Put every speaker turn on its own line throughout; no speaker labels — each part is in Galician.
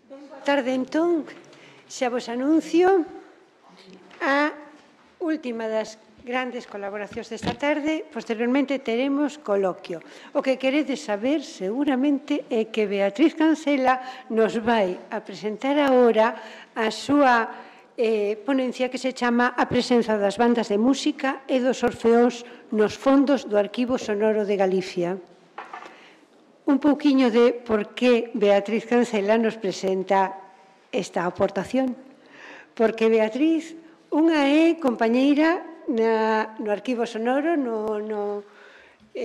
Boa tarde, entón, xa vos anuncio a última das grandes colaboracións desta tarde. Posteriormente teremos coloquio. O que queredes saber seguramente é que Beatriz Cancela nos vai a presentar agora a súa ponencia que se chama A presenza das bandas de música e dos orfeóns nos fondos do Arquivo Sonoro de Galicia. Un pouquiño de por que Beatriz Cancela nos presenta esta aportación. Porque Beatriz, unha é compañeira no Arquivo Sonoro,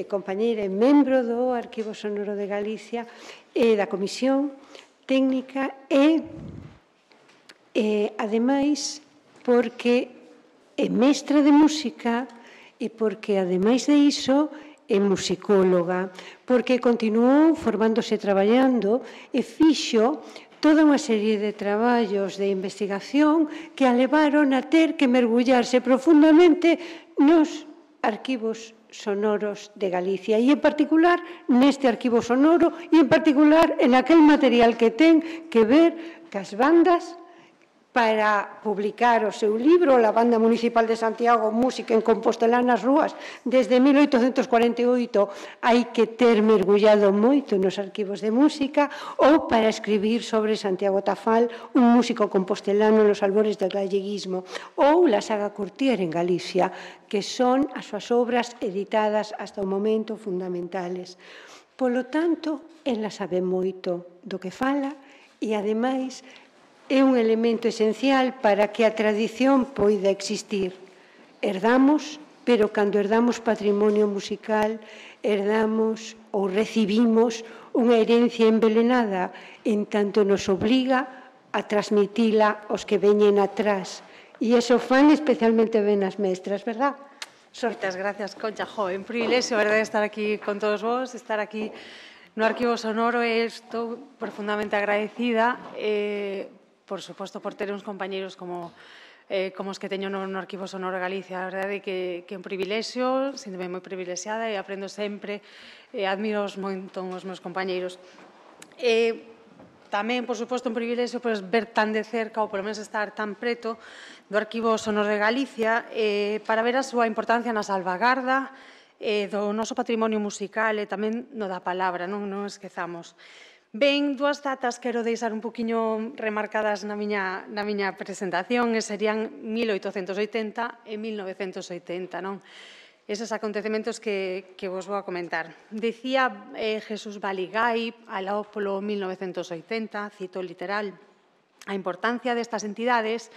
compañeira e membro do Arquivo Sonoro de Galicia e da Comisión Técnica e, ademais, porque é mestra de música e porque, ademais de iso, é musicóloga, porque continuou formándose traballando e fixo toda unha serie de traballos de investigación que a levaron a ter que mergullarse profundamente nos arquivos sonoros de Galicia e, en particular, neste arquivo sonoro e, en particular, en aquel material que ten que ver cas bandas para publicar o seu libro, La Banda Municipal de Santiago, Música en Compostelá nas rúas, desde 1848, hai que ter mergullado moito nos arquivos de música, ou para escribir sobre Santiago Tafal, un músico compostelano nos albores do galleguismo, ou La Saga Curtier en Galicia, que son as súas obras editadas hasta o momento fundamentales. Polo tanto, ela sabe moito do que fala e, ademais, é un elemento esencial para que a tradición poida existir. Herdamos, pero cando herdamos patrimonio musical, herdamos ou recibimos unha herencia envelenada, en tanto nos obliga a transmitila aos que veñen atrás. E iso fan especialmente ben as mestras, verdad?
Moitas gracias, Concha. Jo, un privilexio, verdade, estar aquí con todos vos, estar aquí no Arquivo Sonoro, e estou profundamente agradecida, por suposto, por ter uns compañeiros como os que teño no Arquivo Sonoro de Galicia. A verdade é que é un privilexio, síntome moi privilexiada e aprendo sempre, admiro moito os meus compañeiros. Tamén, por suposto, un privilexio ver tan de cerca, ou polo menos estar tan preto do Arquivo Sonoro de Galicia, para ver a súa importancia na salvagarda do noso patrimonio musical e tamén no da palabra, non esquezamos. Ben, dúas datas quero deixar un poquinho remarcadas na miña presentación, e serían 1880 e 1980, non? Eses acontecementos que vos vou a comentar. Dicía Jesús Baligay, alao polo 1980, cito literal, a importancia destas entidades,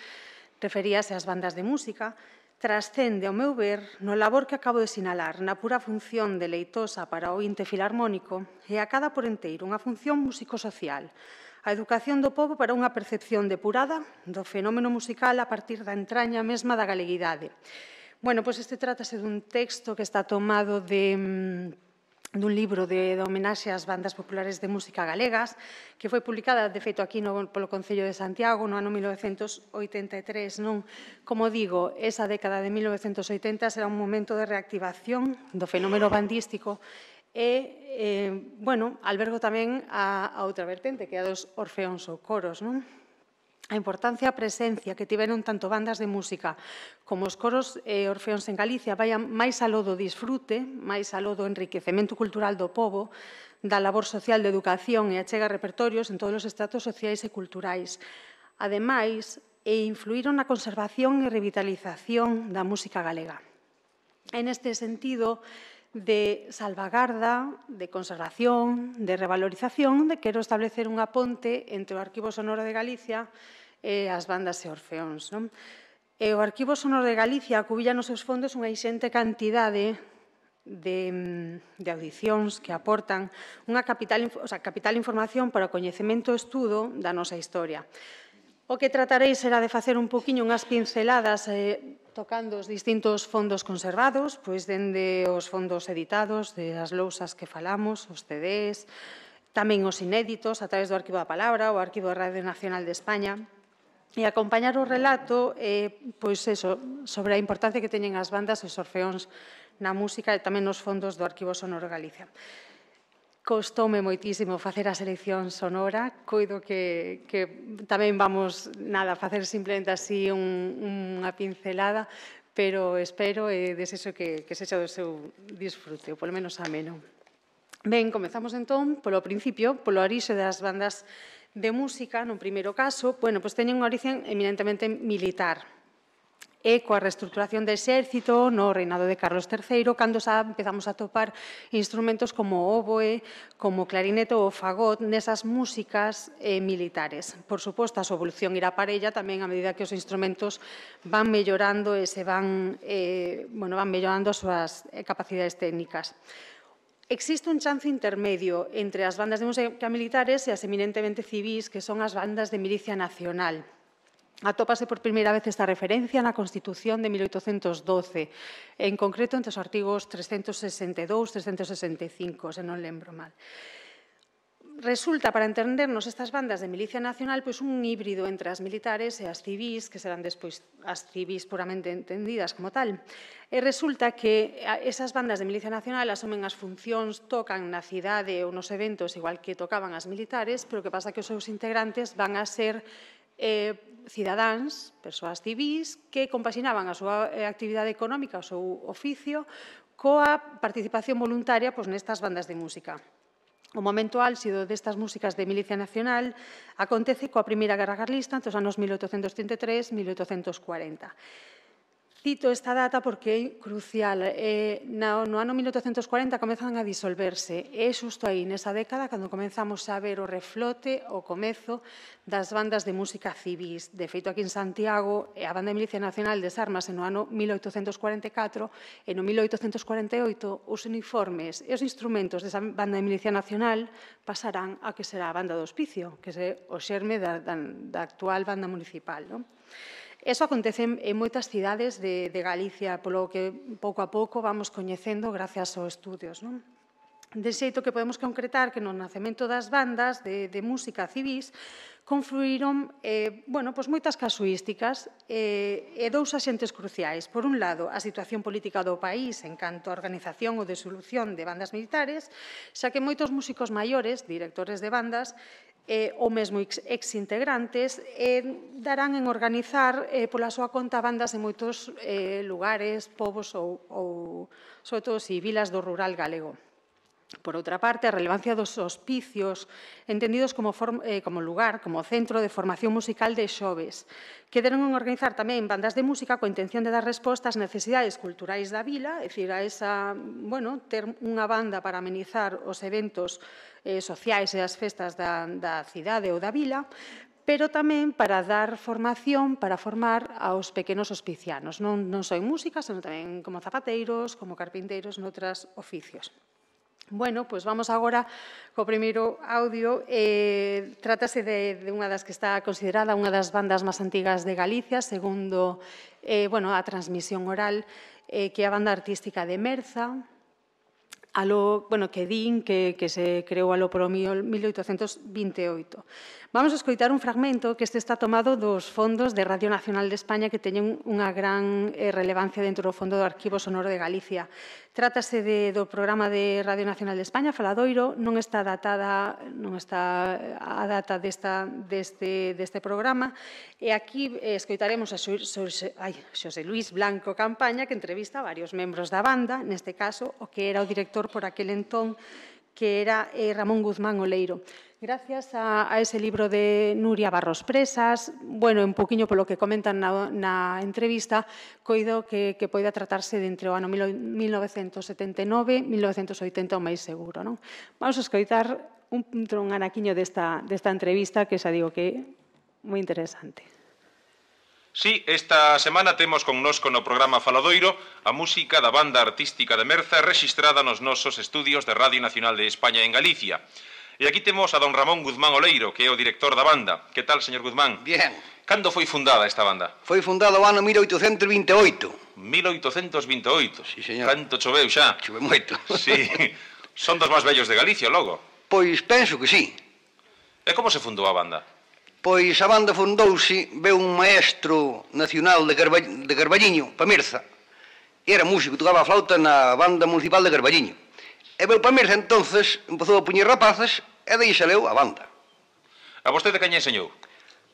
referíase ás bandas de música, trascende, ao meu ver, no labor que acabo de sinalar, na pura función deleitosa para o ointe filarmónico, e acada por enteiro unha función músico-social, a educación do pobo para unha percepción depurada do fenómeno musical a partir da entraña mesma da galeguidade. Bueno, pois este trátase dun texto que está tomado dun libro de homenaxe ás bandas populares de música galegas, que foi publicada, de feito, aquí polo Concello de Santiago no ano 1983. Como digo, esa década de 1980 será un momento de reactivación do fenómeno bandístico e, albergo tamén a outra vertente, que é a dos orfeóns ou coros, non? A importancia e a presencia que tiveron tanto bandas de música como os coros e orfeóns en Galicia vayan máis aló do disfrute, máis aló do enriquecemento cultural do pobo, da labor social de educación e achega repertorios en todos os estratos sociais e culturais. Ademais, influíron na conservación e revitalización da música galega. En este sentido, de salvagarda, de conservación, de revalorización, quero establecer unha ponte entre o Arquivo Sonoro de Galicia e as bandas e orfeóns. O Arquivo Sonoro de Galicia acubilla nos seus fondos unha inxente cantidade de audicións que aportan unha capital información para o coñecemento e estudo da nosa historia. O que tratarei será de facer un poquinho unhas pinceladas tocando os distintos fondos conservados, pois dende os fondos editados, das lousas que falamos, os CDs, tamén os inéditos a través do Arquivo da Palabra, o Arquivo da Radio Nacional de España, e acompañar o relato sobre a importancia que teñen as bandas e os orfeóns na música e tamén nos fondos do Arquivo Sonoro de Galicia. Costoume moitísimo facer a selección sonora, coido que tamén vamos a facer simplemente así unha pincelada, pero espero e desexo que sexa do seu disfrute, ou polo menos ameno. Ben, comezamos entón polo principio, polo orixe das bandas de música, no primeiro caso, bueno, pois teñen unha origen eminentemente militar, e coa reestructuración do exército no reinado de Carlos III, cando xa empezamos a topar instrumentos como o oboe, como o clarinete ou o fagot nesas músicas militares. Por suposto, a súa evolución irá parella tamén a medida que os instrumentos van mellorando e se van mellorando as súas capacidades técnicas. Existe un chance intermedio entre as bandas de música militares e as eminentemente civís, que son as bandas de milicia nacional. Atópase por primeira vez esta referencia na Constitución de 1812, en concreto entre os artigos 362 e 365, se non lembro mal. Resulta, para entendernos estas bandas de milicia nacional, pois un híbrido entre as militares e as civís, que serán despois as civís puramente entendidas como tal. E resulta que esas bandas de milicia nacional asumen as funcións, tocan na cidade ou nos eventos igual que tocaban as militares, pero o que pasa que os seus integrantes van a ser cidadáns, persoas civís, que compaxinaban a súa actividade económica, o seu oficio, coa participación voluntaria nestas bandas de música. O momento álxido destas músicas de milicia nacional acontece coa Primeira Guerra Carlista entre os anos 1833 e 1840. Cito esta data porque é crucial. No ano 1840 comezan a disolverse. É xusto aí, nesa década, cando comenzamos a ver o reflote, o comezo das bandas de música civís. De feito, aquí en Santiago, a Banda de Milicia Nacional desármase no ano 1844 e no 1848 os uniformes e os instrumentos desa Banda de Milicia Nacional pasarán a que será a Banda do Hospicio, que é o xerme da actual Banda Municipal. Eso acontece en moitas cidades de Galicia, polo que pouco a pouco vamos coñecendo gracias aos estudios. De xeito que podemos concretar que no nacemento das bandas de música civís confluíron moitas casuísticas e dous axentes cruciais. Por un lado, a situación política do país en canto a organización ou disolución de bandas militares, xa que moitos músicos maiores, directores de bandas, ou mesmo ex-integrantes, darán en organizar pola súa conta bandas en moitos lugares, povos ou, sobre todo, vilas do rural galego. Por outra parte, a relevancia dos hospicios, entendidos como lugar, como centro de formación musical de xoves, que deron en organizar tamén bandas de música coa intención de dar resposta ás necesidades culturais da vila, é dicir, a esa, ter unha banda para amenizar os eventos sociais e as festas da cidade ou da vila, pero tamén para dar formación, para formar aos pequenos hospicianos. Non só en música, senón tamén como zapateiros, como carpinteiros, noutros oficios. Bueno, pois vamos agora co primeiro audio. Trátase de unha das que está considerada unha das bandas máis antigas de Galicia, segundo a transmisión oral, que é a banda artística de Merza, que din que se creou alo por 1828. Vamos a escoitar un fragmento que está tomado dos fondos de Radio Nacional de España, que teñen unha gran relevancia dentro do Fondo do Arquivo Sonoro de Galicia. Trátase do programa de Radio Nacional de España, Faladoiro. Non está a data deste programa. E aquí escoitaremos a Xosé Luís Blanco Campaña, que entrevista a varios membros da banda, neste caso, o que era o director por aquel entón, que era Ramón Guzmán Oleiro. Gracias a ese libro de Nuria Barros Presas, un poquinho polo que comentan na entrevista, coido que poida tratarse de entre o ano 1979 e 1980 o máis seguro. Vamos a escoitar un anaquiño desta entrevista que xa digo que é moi interesante.
Sí, esta semana temos connosco no programa Faladoiro a música da banda artística de Merza rexistrada nos nosos estudios de Radio Nacional de España en Galicia. E aquí temos a don Ramón Guzmán Oleiro, que é o director da banda. Que tal, señor Guzmán?
Bien.
Cando foi fundada esta banda?
Foi fundada o ano 1828.
1828?
Sí, señor.
Canto choveu xa?
Chove moito.
Sí. Son dos máis vellos de Galicia, logo?
Pois penso que sí.
E como se fundou a banda?
Pois a banda fundouse, veu un maestro nacional de Carballiño, pa Merza. Era músico, tocaba a flauta na banda municipal de Carballiño. E veu para Mirza, entonces, empezou a puñer rapaces, e daí saleu a banda.
A vostede quen enseñou?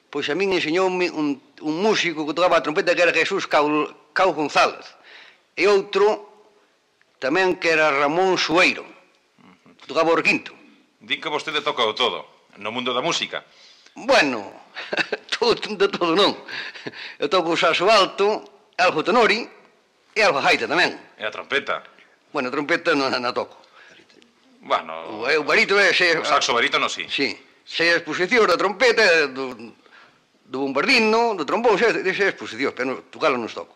Pois a min enseñoume un músico que tocaba a trompeta que era Jesús Cao González. E outro tamén que era Ramón Sueiro, que tocaba o requinto.
Di que vostede toca o todo, no mundo da música.
Bueno, de todo non. Eu toco o saxo alto, algo tenori e algo gaita tamén.
E a trompeta?
Bueno, a trompeta non a toco.
Bueno,
O barítono é...
o saxo barítono, sí.
Sí, sei as exposicións da trompeta, do bombardino, do trombón, sei as exposicións, pero tocalo non toco.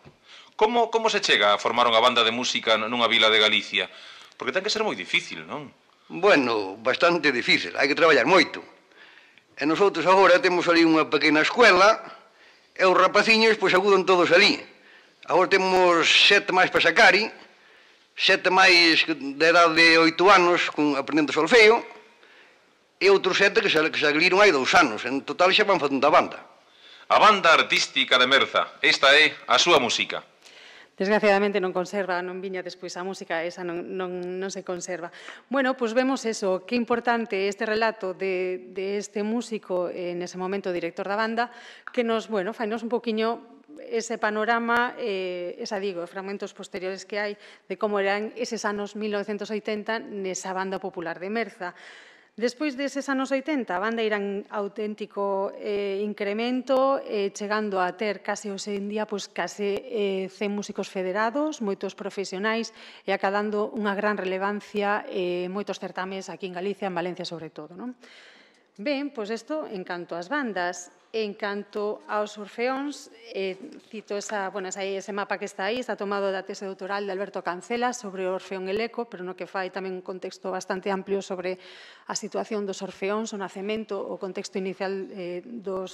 Como se chega a formar unha banda de música nunha vila de Galicia? Porque ten que ser moi difícil, non?
Bueno, bastante difícil, hai que traballar moito. E nosotros agora temos ali unha pequena escuela, e os rapaciños pois acudan todos ali. Agora temos 7 máis para sacari, 7 máis de edad de 8 anos aprendendo solfeo, e outros 7 que se agliron hai 2 anos. En total xa van facendo a banda.
A Banda Artística de Merza. Esta é a súa música.
Desgraciadamente non conserva, non viña despois a música, esa non se conserva. Bueno, pois vemos eso, que importante este relato de este músico, nese momento director da banda, que nos, bueno, fainos un poquinho ese panorama, fragmentos posteriores que hai de como eran eses anos 1980 nesa banda popular de Merza. Despois deses anos 80, a banda irá en auténtico incremento, chegando a ter case hoxe en día case 100 músicos federados, moitos profesionais e acadando unha gran relevancia moitos certames aquí en Galicia, en Valencia sobre todo. Ben, pois isto en canto ás bandas. En canto aos orfeóns, cito ese mapa que está aí, está tomado da tese doutoral de Alberto Cancela sobre o orfeón Eleco, pero no que fai tamén un contexto bastante amplio sobre a situación dos orfeóns, o nacemento, o contexto inicial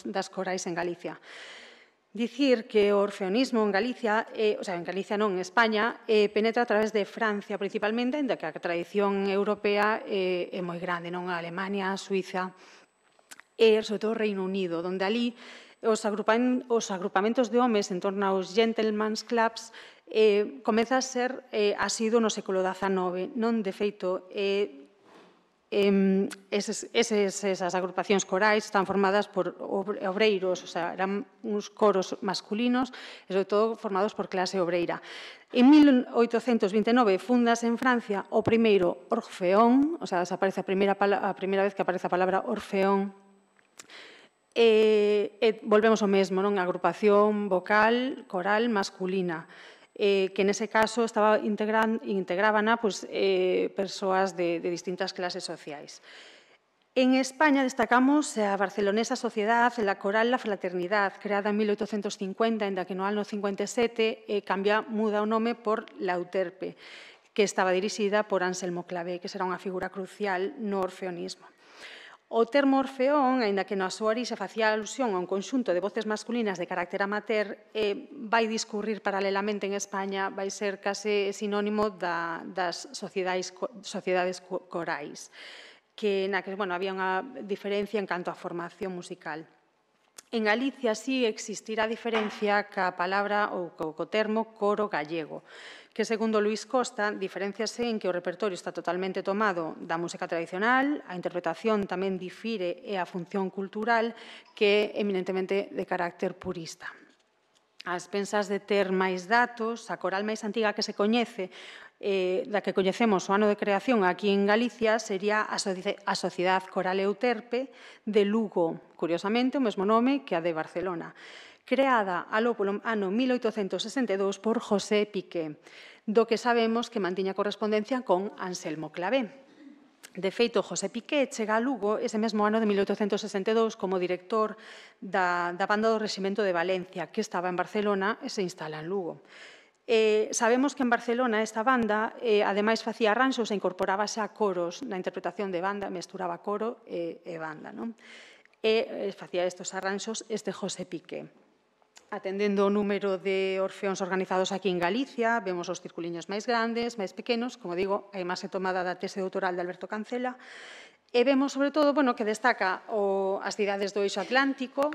das corais en Galicia. Dicir que o orfeonismo en Galicia, en Galicia non, en España, penetra a través de Francia principalmente, ainda que a tradición europea é moi grande, non? A Alemania, a Suiza e, sobre todo, o Reino Unido, onde ali os agrupamentos de homes en torno aos gentleman's clubs comeza a ser asido no século XIX. Non, de feito, esas agrupacións corais están formadas por obreiros, eran uns coros masculinos e, sobre todo, formados por clase obreira. En 1829 fundase en Francia o primeiro orfeón, aparece a primeira vez que aparece a palabra orfeón. Volvemos ao mesmo, non? A agrupación vocal, coral, masculina, que nese caso integraban persoas de distintas clases sociais. En España destacamos a barcelonesa Sociedad, la Coral La Fraternidad, creada en 1850, en que no ano 57 muda o nome por La Euterpe, que estaba dirixida por Anselmo Clavé, que será unha figura crucial no orfeonismo. O termo orfeón, aínda que na súa orixe facía alusión a un conxunto de voces masculinas de carácter amateur, vai discurrir paralelamente en España, vai ser case sinónimo das sociedades corais, na que había unha diferencia en canto á formación musical. En Galicia sí existirá diferencia ca palabra ou co termo coro gallego, que, segundo Luís Costa, diferenciase en que o repertorio está totalmente tomado da música tradicional, a interpretación tamén difire e a función cultural que é eminentemente de carácter purista. Ás pensas de ter máis datos, a coral máis antiga que se coñece, da que coñecemos o ano de creación aquí en Galicia, sería a Sociedad Coral Euterpe de Lugo, curiosamente o mesmo nome que a de Barcelona, creada aló polo ano 1862 por José Piqué, do que sabemos que mantiña correspondencia con Anselmo Clavé. De feito, José Piqué chega a Lugo ese mesmo ano de 1862 como director da banda do Reximento de Valencia, que estaba en Barcelona e se instala en Lugo. Sabemos que en Barcelona esta banda, ademais, facía arranxos e incorporábase a coros na interpretación de banda, mesturaba coro e banda, non? E facía estes arranxos José Piqué. Atendendo o número de orfeóns organizados aquí en Galicia, vemos os circuliños máis grandes, máis pequenos, como digo, hai máis tomada da tese doutoral de Alberto Cancela, e vemos, sobre todo, que destaca as cidades do eixo atlántico,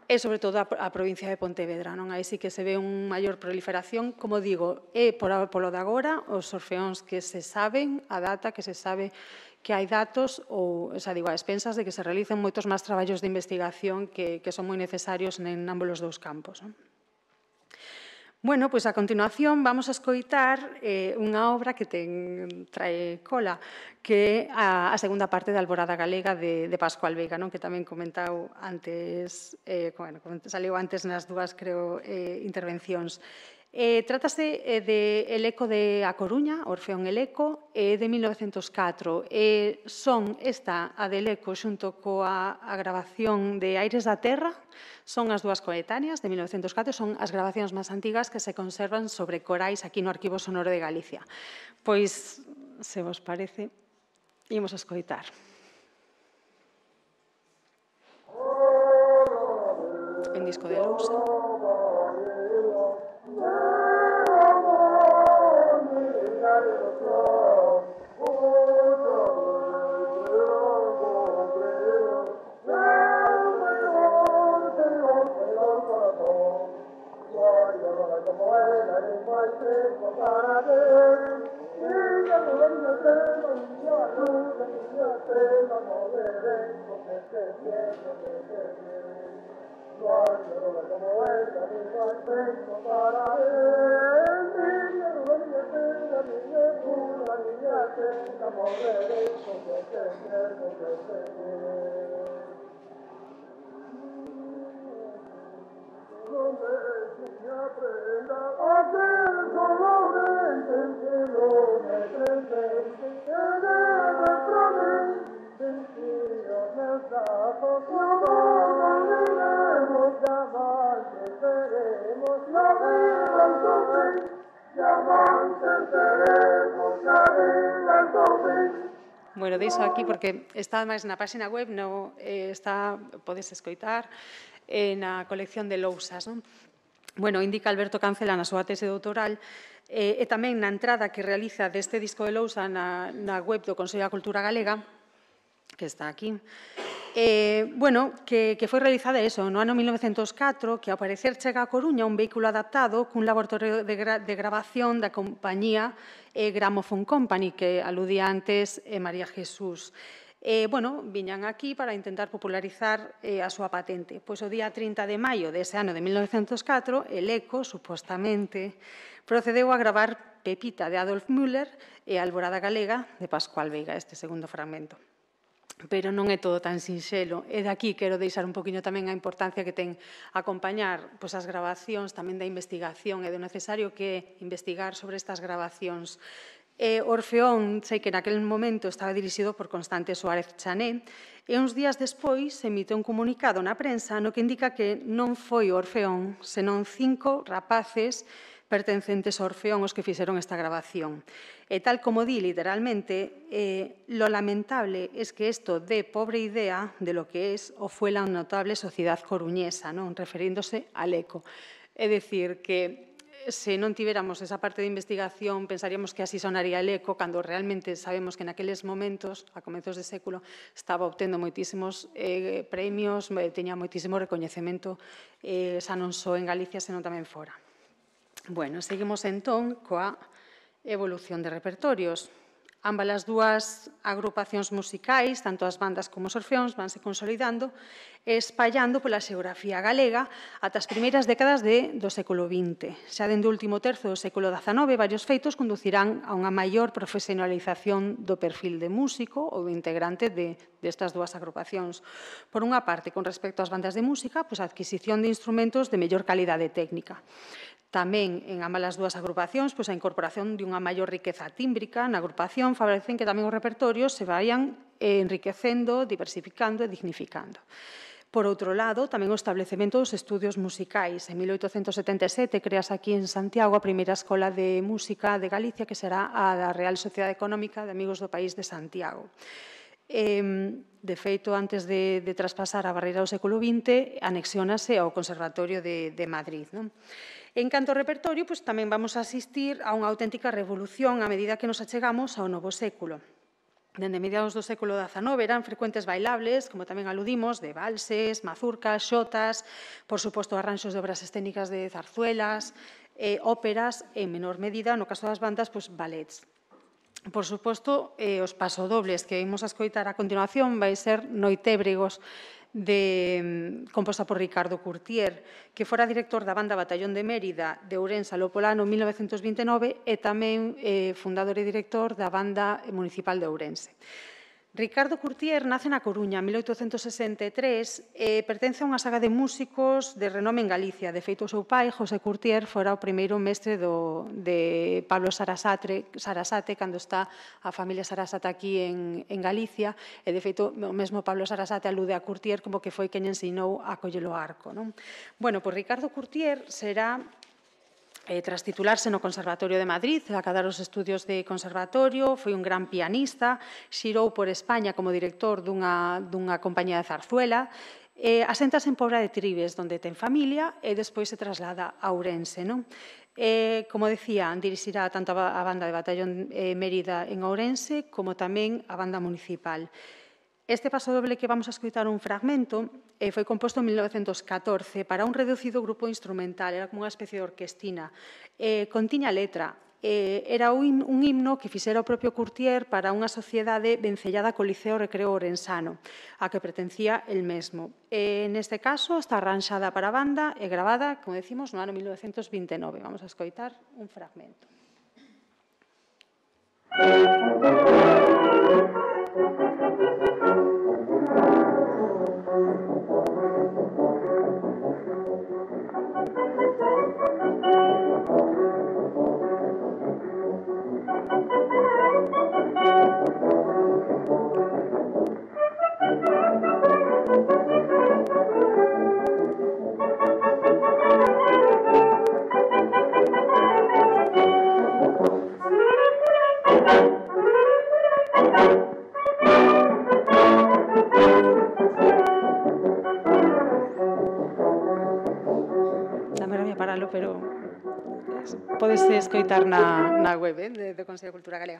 e, sobre todo, a provincia de Pontevedra. Aí sí que se ve unha maior proliferación. Como digo, é polo de agora os orfeóns que se saben a data, que se sabe que hai datos, ou, digo, a expensas de que se realicen moitos máis traballos de investigación que son moi necesarios en ambos os dous campos. Bueno, pois a continuación vamos a escoitar unha obra que trae cola, que é a segunda parte da Alborada Galega de Pascual Veiga, que tamén comentau antes, saliu antes nas dúas, creo, intervencións. Trátase de El Eco de A Coruña, Orfeón El Eco, de 1904. Son esta, a del Eco, xunto coa grabación de Aires da Terra, son as dúas coetáneas de 1904, son as grabacións máis antigas que se conservan sobre corais aquí no Arquivo Sonoro de Galicia. Pois, se vos parece, imos a escoitar. En disco de lousa. Bueno, deixo aquí porque está máis na página web, podes escoitar na colección de lousas. Bueno, indica Alberto Cancela na súa tese doutoral e tamén na entrada que realiza deste disco de lousa na web do Consello da Cultura Galega, que está aquí, que foi realizada no ano 1904, que ao parecer chega a Coruña un vehículo adaptado cun laboratorio de grabación da compañía Gramophone Company, que aludía antes María Jesús. Viñan aquí para intentar popularizar a súa patente. Pois o día 30 de maio dese ano de 1904, el Eco, supostamente, procedeu a gravar Pepita de Adolf Müller e a Alborada Galega de Pascual Veiga, este segundo fragmento. Pero non é todo tan sinxelo. E daqui quero deixar un poquinho tamén a importancia que ten acompañar as grabacións, tamén da investigación e do necesario que é investigar sobre estas grabacións. Orfeón, sei que naquele momento estaba dirixido por Constante Suárez Chané, e uns días despois se emite un comunicado na prensa no que indica que non foi Orfeón, senón 5 rapaces pertencentes ao Orfeón os que fixeron esta grabación. E tal como di literalmente, lo lamentable es que esto dé pobre idea de lo que es o fue la notable sociedad coruñesa, referíndose al Eco. É dicir, que se non tiveramos esa parte de investigación, pensaríamos que así sonaría el Eco, cando realmente sabemos que naqueles momentos, a comezos de século, estaba obtendo moitísimos premios, teña moitísimo recoñecemento, xa non só en Galicia, senón tamén fora. Bueno, seguimos entón coa evolución de repertorios. Ambas as dúas agrupacións musicais, tanto as bandas como os orfeóns, vanse consolidando e espallando pola xeografía galega ata as primeiras décadas do século XX. Xa dende o último terzo do século XIX, varios feitos conducirán a unha maior profesionalización do perfil de músico ou do integrante destas dúas agrupacións. Por unha parte, con respecto ás bandas de música, a adquisición de instrumentos de mellor calidade técnica. Tamén, en ambas as dúas agrupacións, a incorporación de unha maior riqueza tímbrica na agrupación favorecen que tamén os repertorios se vayan enriquecendo, diversificando e dignificando. Por outro lado, tamén o establecemento dos estudios musicais. En 1877 creas aquí en Santiago a primeira escola de música de Galicia, que será a da Real Sociedade Económica de Amigos do País de Santiago. De feito, antes de traspasar a barreira do século XX, anexiónase ao Conservatorio de Madrid. En canto ao repertorio, tamén vamos a asistir a unha auténtica revolución a medida que nos achegamos ao novo século. dende mediados do século XIX eran frecuentes bailables, como tamén aludimos, de valses, mazurcas, xotas, por suposto arranxos de obras escénicas de zarzuelas, óperas, en menor medida, no caso das bandas, ballets. Por suposto, os pasodobles que imos a escoitar a continuación vai ser Noitébregos, composta por Ricardo Curtier, que fora director da banda Batallón de Mérida de Ourense aló polo ano 1929 e tamén fundador e director da banda municipal de Ourense. Ricardo Curtier nace na Coruña en 1863 e pertence a unha saga de músicos de renome en Galicia. De feito, o seu pai, José Curtier, fora o primeiro mestre de Pablo Sarasate, cando está a familia Sarasate aquí en Galicia, e de feito, o mesmo Pablo Sarasate alude a Curtier como que foi quen ensinou a coller o arco. Bueno, pois Ricardo Curtier será tras titularse no Conservatorio de Madrid, acadar os estudios de conservatorio, foi un gran pianista, xirou por España como director dunha compañía de zarzuela, aséntase en Pobra de Tribes, onde ten familia, e despois se traslada a Ourense. Como decía, dirixirá tanto a banda de Batallón Mérida en Ourense como tamén a banda municipal. Este pasodoble que vamos a escoitar un fragmento foi composto en 1914 para un reducido grupo instrumental, era como unha especie de orquestina. Contiña letra, era un himno que fixera o propio Curtier para unha sociedade vencellada co Liceo Recreo Ourensano, a que pertencía el mesmo. Neste caso está arranxada para a banda e gravada, como decimos, no ano 1929. Vamos a escoitar un fragmento. Pero podese escoitar na web do Consello de Cultura Galega.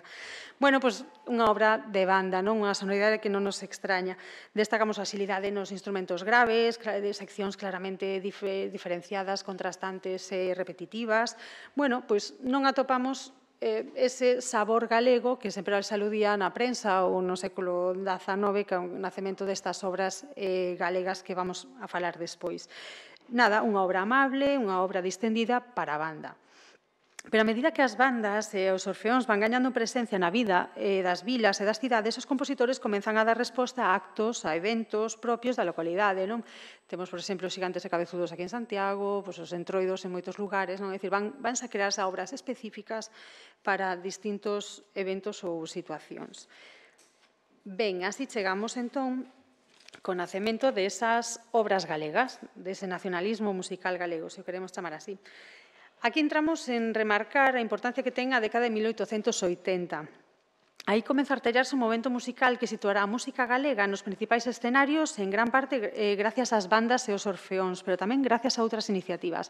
Bueno, pois unha obra de banda, unha sonoridade que non nos extraña. Destacamos a xilidade nos instrumentos graves, de seccións claramente diferenciadas, contrastantes e repetitivas. Bueno, pois non atopamos ese sabor galego que sempre se aludía na prensa ou no século XIX, que é o nacemento destas obras galegas que vamos a falar despois. Nada, unha obra amable, unha obra distendida para a banda. Pero a medida que as bandas e os orfeóns van gañando presencia na vida das vilas e das cidades, os compositores comenzan a dar resposta a actos, a eventos propios da localidade. Temos, por exemplo, os Xigantes e Cabezudos aquí en Santiago, os Entroidos en moitos lugares. É dicir, vanse a crearse obras específicas para distintos eventos ou situacións. Ben, así chegamos entón co nacemento desas obras galegas, dese nacionalismo musical galego, se o queremos chamar así. Aquí entramos en remarcar a importancia que ten a década de 1880. Aí comeza a artellarse un momento musical que situará a música galega nos principais escenarios, en gran parte gracias ás bandas e aos orfeóns, pero tamén gracias a outras iniciativas.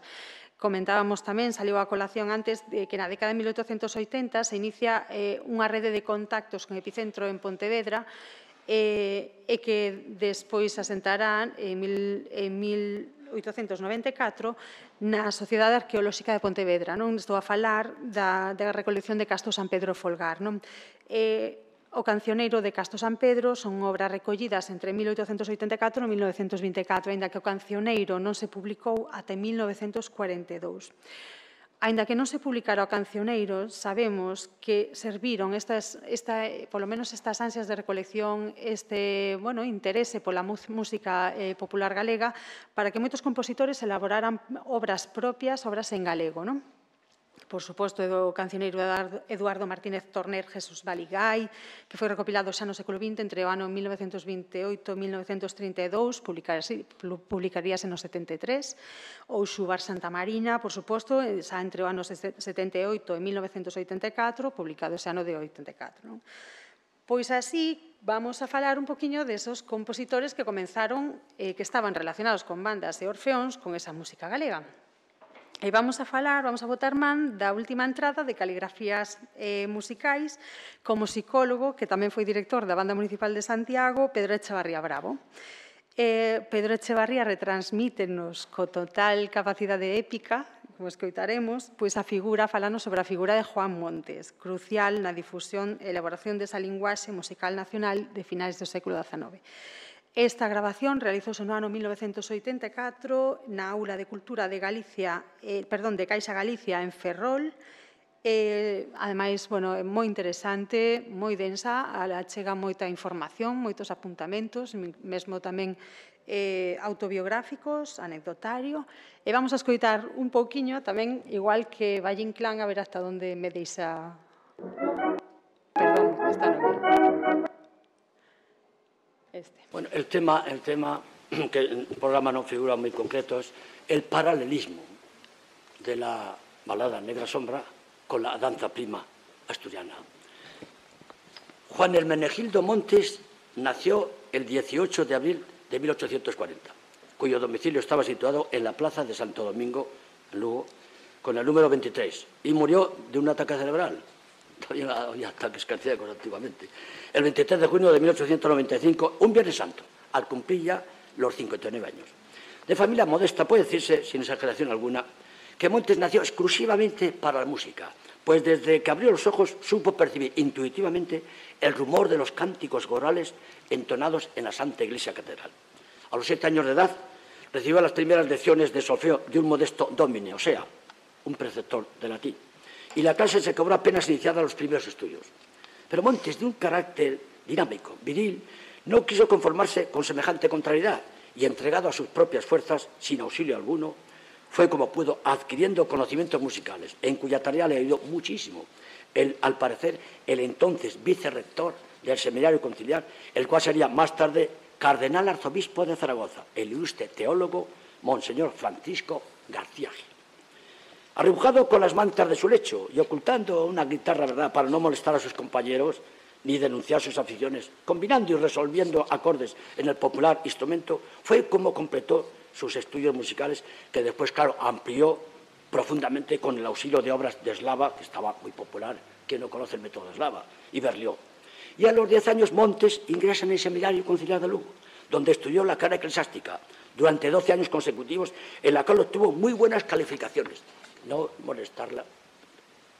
Comentábamos tamén, saliu a colación antes, que na década de 1880 se inicia unha rede de contactos con epicentro en Pontevedra, e que despois asentarán en 1894 na Sociedade Arqueolóxica de Pontevedra. Estou a falar da recolección de Casto San Pedro Folgar. O cancioneiro de Casto San Pedro son obras recollidas entre 1884 e 1924, aínda que o cancioneiro non se publicou ata 1942. Aínda que non se publicara o cancioneiro, sabemos que serviron polo menos estas ansias de recolección, este interese pola música popular galega, para que moitos compositores elaboraran obras propias, obras en galego. Por suposto, do cancioneiro Eduardo Martínez Torner, Jesús Baligay, que foi recopilado xa no século XX entre o ano 1928 e 1932, publicaríase no 73, ou Xubar Santa Marina, por suposto, xa entre o ano 78 e 1984, publicado ese ano de 84. Pois así, vamos a falar un poquinho desos compositores que comenzaron, que estaban relacionados con bandas e orfeóns con esa música galega. E vamos a botar man da última entrada de Caligrafías Musicais como psicólogo, que tamén foi director da Banda Municipal de Santiago, Pedro Echevarría Bravo. Pedro Echevarría retransmítenos co total capacidade épica, como escoitaremos, pois a figura, falando sobre a figura de Juan Montes, crucial na difusión e elaboración desa linguaxe musical nacional de finais do século XIX. Esta grabación realizouse no ano 1984 na Aula de Cultura de Caixa Galicia en Ferrol. Ademais, é moi interesante, moi densa, chega moita información, moitos apuntamentos, mesmo tamén autobiográficos, anecdotario. E vamos a escoitar un pouquiño tamén, igual que Valle Inclán, a ver hasta onde me deixa... Perdón, esta non é.
Bueno, el tema que el programa no figura muy concreto es el paralelismo de la balada Negra Sombra con la danza prima asturiana. Juan Hermenegildo Montes nació el 18 de abril de 1840, cuyo domicilio estaba situado en la plaza de Santo Domingo, en Lugo, con el número 23, y murió de un ataque cerebral. Todavía había ataques cardíacos antiguamente. El 23 de junio de 1895, un Viernes Santo, al cumplir ya los 59 años. De familia modesta, puede decirse, sin exageración alguna, que Montes nació exclusivamente para la música, pues desde que abrió los ojos supo percibir intuitivamente el rumor de los cánticos gorales entonados en la Santa Iglesia Catedral. A los 7 años de edad recibió las primeras lecciones de solfeo de un modesto domine, o sea, un preceptor de latín. Y la clase se cobró apenas iniciada los primeros estudios. Pero Montes, de un carácter dinámico, viril, no quiso conformarse con semejante contrariedad y, entregado a sus propias fuerzas, sin auxilio alguno, fue como pudo adquiriendo conocimientos musicales, en cuya tarea le ayudó muchísimo, al parecer, el entonces vicerrector del Seminario Conciliar, el cual sería más tarde cardenal arzobispo de Zaragoza, el ilustre teólogo Monseñor Francisco García Gil. Arrebujado con las mantas de su lecho y ocultando una guitarra, ¿verdad?, para no molestar a sus compañeros ni denunciar sus aficiones, combinando y resolviendo acordes en el popular instrumento, fue como completó sus estudios musicales, que después, claro, amplió profundamente con el auxilio de obras de Eslava, que estaba muy popular, quien no conoce el método de Eslava, y Berlioz. Y a los 10 años Montes ingresa en el Seminario Conciliar de Lugo, donde estudió la carrera eclesiástica durante 12 años consecutivos, en la cual obtuvo muy buenas calificaciones. No molestarla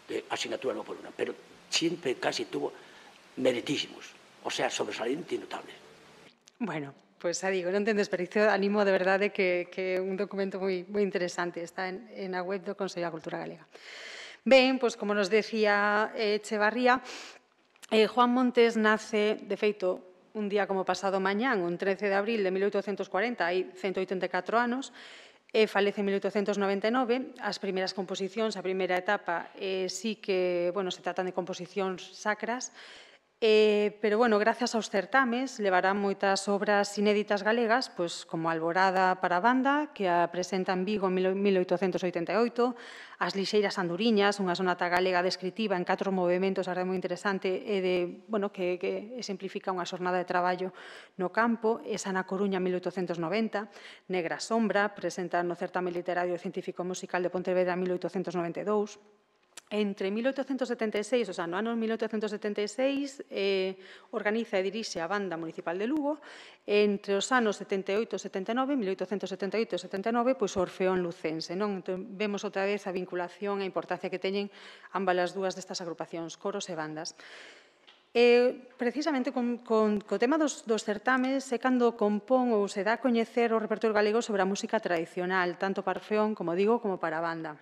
de asignatura no por una, pero siempre casi tuvo meritísimos, o sea, sobresaliente y notable.
Bueno, pues xa digo, non ten desperdicio, animo de verdade que un documento moi interesante, está en a web do Consello da Cultura Galega. Ben, pois como nos decía Echevarría, Juan Montes nace, de feito, un día como pasado mañán, un 13 de abril de 1840, hai 184 anos, falece en 1899. As primeiras composicións, a primeira etapa, sí que, se tratan de composicións sacras, pero, gracias aos certames, levarán moitas obras inéditas galegas, como Alborada para a banda, que a presenta en Vigo en 1888, As lixeiras anduriñas, unha sonata galega descritiva en 4 movementos, a verdade moi interesante, que exemplifica unha xornada de traballo no campo, esa na Coruña en 1890, Negra Sombra, presenta no certame literario científico musical de Pontevedra en 1892, entre 1876, o sea, no ano 1876, organiza e dirixe a Banda Municipal de Lugo. Entre os anos 78 e 79, 1878 e 79, o Orfeón Lucense. Entón, vemos outra vez a vinculación e a importancia que teñen ambas as dúas destas agrupacións, coros e bandas. Precisamente co tema dos certames é cando compón ou se dá a coñecer o repertorio galego sobre a música tradicional, tanto para Orfeón, como digo, como para a banda.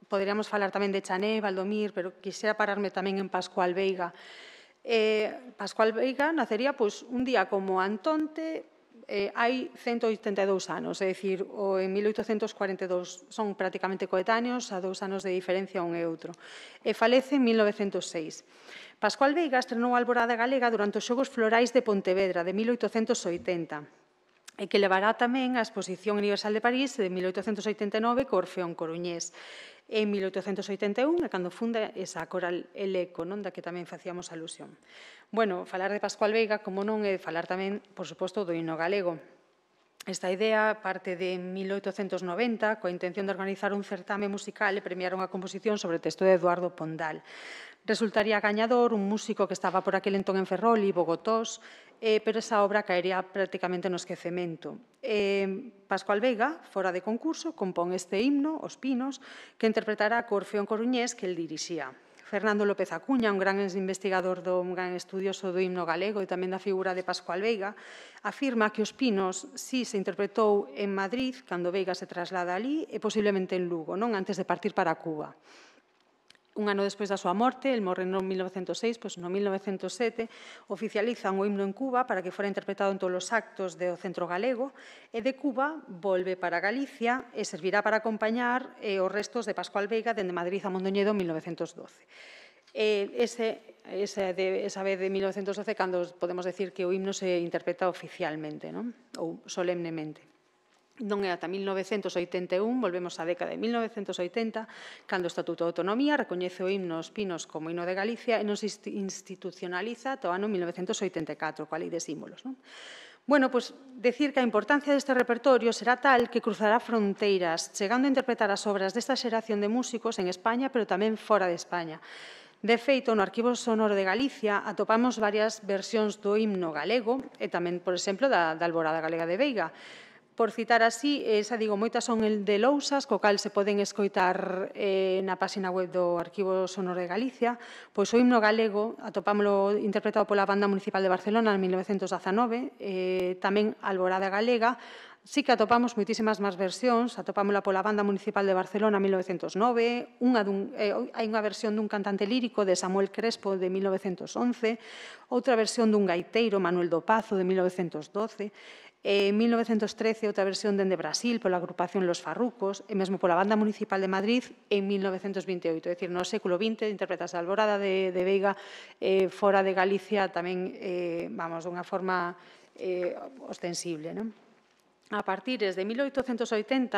Poderíamos falar tamén de Chané, Valdomir, pero quixera pararme tamén en Pascual Veiga. Pascual Veiga nacería un día como Antonte, hai 182 anos, é dicir, en 1842 son prácticamente coetáneos, a 2 anos de diferencia un e outro. E falece en 1906. Pascual Veiga estrenou a Alborada Galega durante os Xogos Florais de Pontevedra, de 1880, e que levará tamén a Exposición Universal de París de 1889 co Orfeón Coruñés. En 1881 é cando funda esa coral El Eco, da que tamén facíamos alusión. Falar de Pascual Veiga, como non, é falar tamén, por suposto, do himno galego. Esta idea parte de 1890 coa intención de organizar un certame musical e premiar unha composición sobre texto de Eduardo Pondal. Resultaría gañador un músico que estaba por aquel entón en Ferrol e Bogotós, pero esa obra caería prácticamente no esquecemento. Pascual Veiga, fora de concurso, compón este himno, Os Pinos, que interpretará co Orfeón Coruñés que el dirixía. Fernando López Acuña, un gran investigador, un gran estudioso do himno galego e tamén da figura de Pascual Veiga, afirma que Os Pinos sí se interpretou en Madrid, cando Veiga se traslada alí, e posiblemente en Lugo, non antes de partir para Cuba. Un ano despois da súa morte, el morre no 1906, pois no 1907, oficializan o himno en Cuba para que fora interpretado en todos os actos do Centro Galego, e de Cuba volve para Galicia e servirá para acompañar os restos de Pascual Veiga dende Madrid a Mondoñedo en 1912. Esa vez de 1912 cando podemos decir que o himno se interpreta oficialmente, non? Ou solemnemente. Non é ata 1981, volvemos á década de 1980, cando o Estatuto de Autonomía recoñece o himno Os Pinos como himno de Galicia e non se institucionaliza ata o ano 1984, coa Lei de Símbolos. Bueno, pois, decir que a importancia deste repertorio será tal que cruzará fronteiras, chegando a interpretar as obras desta xeración de músicos en España, pero tamén fora de España. De feito, no Arquivo Sonoro de Galicia atopamos varias versións do himno galego e tamén, por exemplo, da Alborada Galega de Veiga. Por citar así, moitas son de lousas, co cal se poden escoitar na página web do Arquivo Sonoro de Galicia, pois o himno galego atopámoslo interpretado pola Banda Municipal de Barcelona en 1919, tamén Alborada Galega. Sí que atopamos moitísimas máis versións, atopámola pola Banda Municipal de Barcelona en 1909, hai unha versión dun cantante lírico de Samuel Crespo de 1911, outra versión dun gaiteiro, Manuel do Pazo, de 1912, en 1913, outra versión dende Brasil pola agrupación Los Farrucos e mesmo pola Banda Municipal de Madrid en 1928. É dicir, no século XX interpretase a Alborada de Veiga fora de Galicia tamén, dunha forma ostensible, non? A partir de 1880,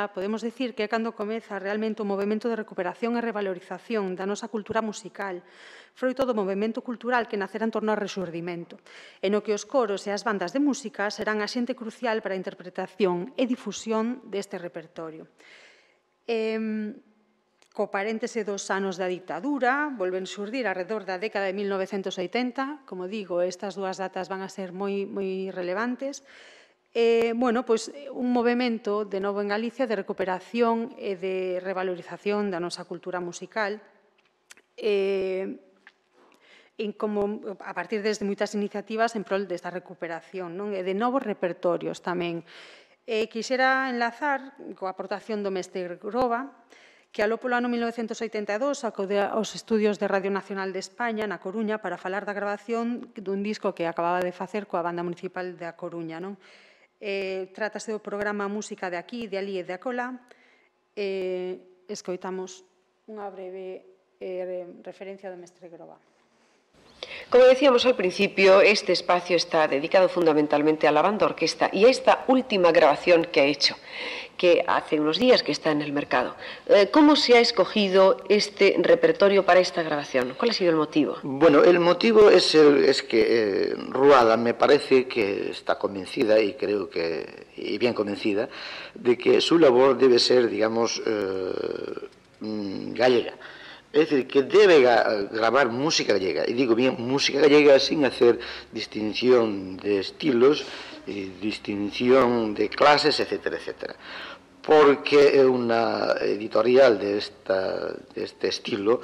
podemos dicir que é cando comeza realmente o movimento de recuperación e revalorización da nosa cultura musical, froito do movimento cultural que nacerá en torno ao Rexurdimento, e no que os coros e as bandas de música serán a xente crucial para a interpretación e difusión deste repertorio. Co paréntese dos anos da dictadura, volven xurdir arredor da década de 1980, como digo, estas dúas datas van a ser moi relevantes, un movimento de novo en Galicia de recuperación e de revalorización da nosa cultura musical a partir desde moitas iniciativas en prol desta recuperación e de novos repertorios tamén. Quixera enlazar coa aportación do mestre Groba, que aló polo ano 1982 acude aos estudios de Radio Nacional de España na Coruña para falar da grabación dun disco que acababa de facer coa Banda Municipal da Coruña. Trátase do programa Música de aquí, de alí e de acolá. Escoitamos unha breve referencia do mestre Groba.
Como decíamos al principio, este espacio está dedicado fundamentalmente a la banda orquesta y a esta última grabación que ha hecho, que hace unos días que está en el mercado. ¿Cómo se ha escogido este repertorio para esta grabación? ¿Cuál ha sido el motivo?
Bueno, el motivo es que Ruada me parece que está convencida, y creo que, y bien convencida, de que su labor debe ser, digamos, gallega. Es decir, que debe grabar música gallega, y digo bien música gallega sin hacer distinción de estilos, distinción de clases, etcétera, etcétera. Porque una editorial de este estilo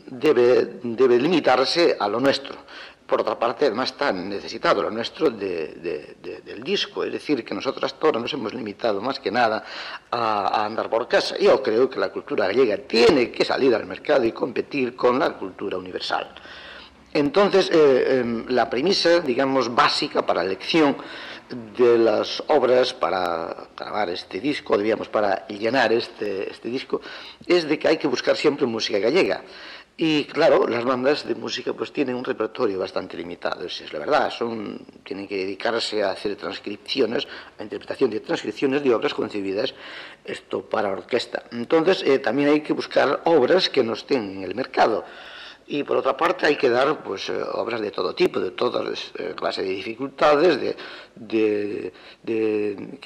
debe limitarse a lo nuestro. Por otra parte, además está necesitado lo nuestro del disco, es decir, que nosotros hasta ahora nos hemos limitado más que nada a andar por casa. Yo creo que la cultura gallega tiene que salir al mercado y competir con la cultura universal. Entonces, la premisa, digamos, básica para la elección de las obras para grabar este disco, digamos, para llenar este disco, es de que hay que buscar siempre música gallega. Y claro, las bandas de música pues tienen un repertorio bastante limitado, es la verdad, tienen que dedicarse a hacer transcripciones, a interpretación de transcripciones de obras concebidas para orquesta. Entonces también hay que buscar obras que no estén en el mercado. Y por otra parte hay que dar pues, obras de todo tipo, de todas clases de dificultades, que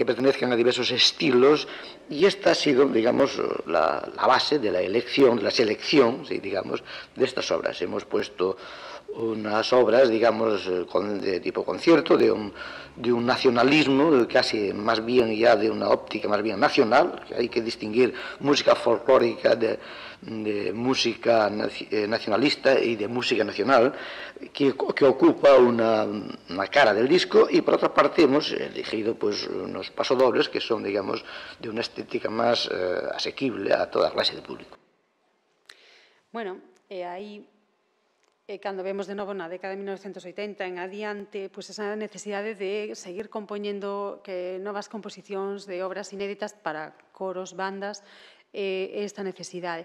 pertenezcan a diversos estilos, y esta ha sido, digamos, la base de la elección, de la selección, ¿sí? digamos, de estas obras. Hemos puesto unas obras, digamos, de tipo concierto, de un nacionalismo, casi más bien ya de una óptica más bien nacional, que hay que distinguir música folclórica de música nacionalista y de música nacional, que ocupa una cara del disco, y por otra parte hemos elegido pues, unos pasodobles que son, digamos, de una estética más asequible a toda clase de público.
Bueno, aí cando vemos de novo na década de 1980 en adiante, pois esa necesidade de seguir compoñendo novas composicións de obras inéditas para coros, bandas, esta necesidade.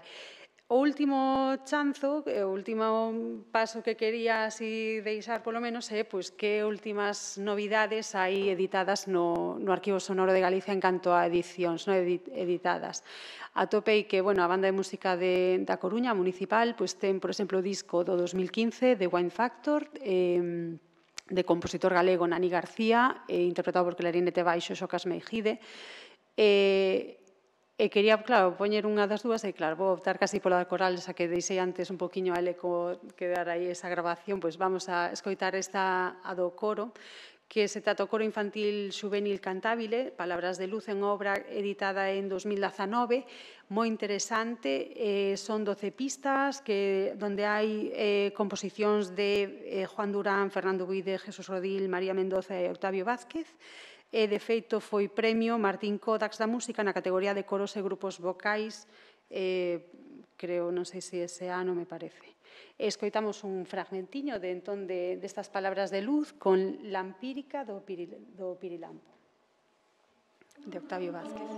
O último chanzo, o último paso que quería así deixar polo menos é pois que últimas novidades hai editadas no Arquivo Sonoro de Galicia en canto a edicións editadas. Atopei que, bueno, a Banda de Música da Coruña, municipal, pois ten, por exemplo, o disco do 2015 de Wine Factor, de compositor galego Nani García, interpretado por clarinete baixo Xocas Meijide, e quería, claro, poñer unha das dúas, e claro, vou optar casi pola coral, esa que deixei antes un poquinho a eco que dar aí esa grabación, pois vamos a escoitar esta a do coro, que se trata o coro infantil xuvenil cantábile, Palabras de Luz, en obra editada en 2019, moi interesante, son 12 pistas, donde hai composicións de Juan Durán, Fernando Buide, Jesús Rodil, María Mendoza e Octavio Vázquez, e de feito foi premio Martín Kodax da Música na categoría de coros e grupos vocais, creo, non sei se ese ano me parece. Escoitamos un fragmentiño destas Palabras de Luz con La Empírica do Pirilampo, de Octavio Vázquez.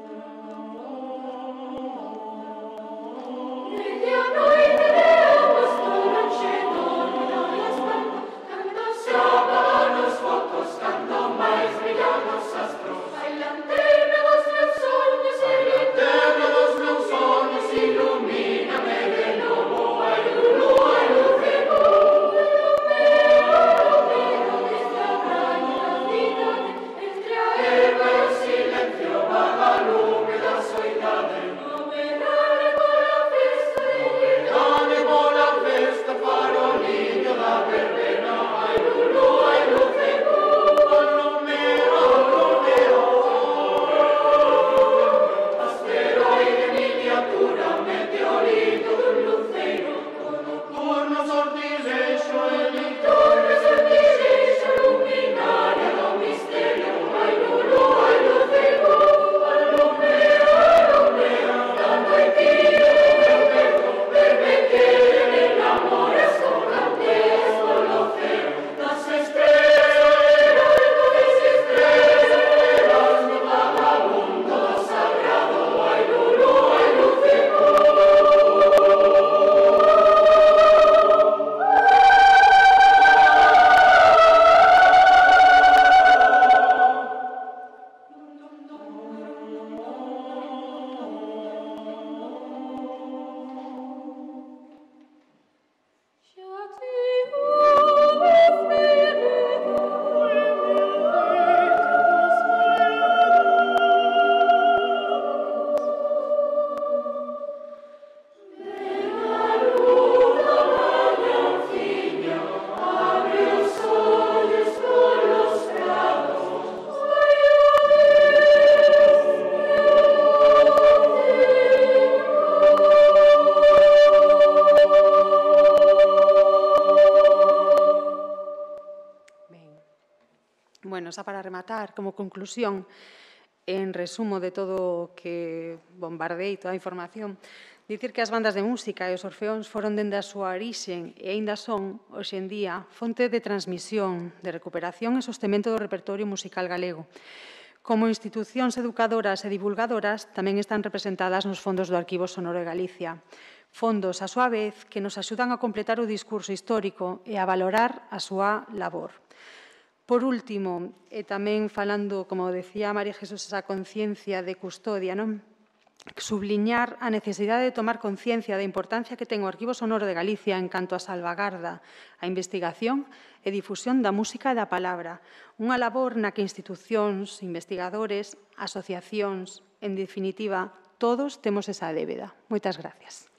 Bueno, xa para rematar, como conclusión, en resumo de todo o que bombardeei, toda a información, dicir que as bandas de música e os orfeóns foron dende a súa orixen e aínda son, hoxe en día, fonte de transmisión, de recuperación e sostemento do repertorio musical galego. Como institucións educadoras e divulgadoras, tamén están representadas nos fondos do Arquivo Sonoro de Galicia. Fondos, a súa vez, que nos axudan a completar o discurso histórico e a valorar a súa labor. Por último, e tamén falando, como decía María Jesús, esa conciencia de custodia, non? subliñar a necesidade de tomar conciencia da importancia que ten o Arquivo Sonoro de Galicia en canto a salvagarda, a investigación e difusión da música e da palabra, unha labor na que institucións, investigadores, asociacións, en definitiva, todos temos esa débeda. Moitas gracias.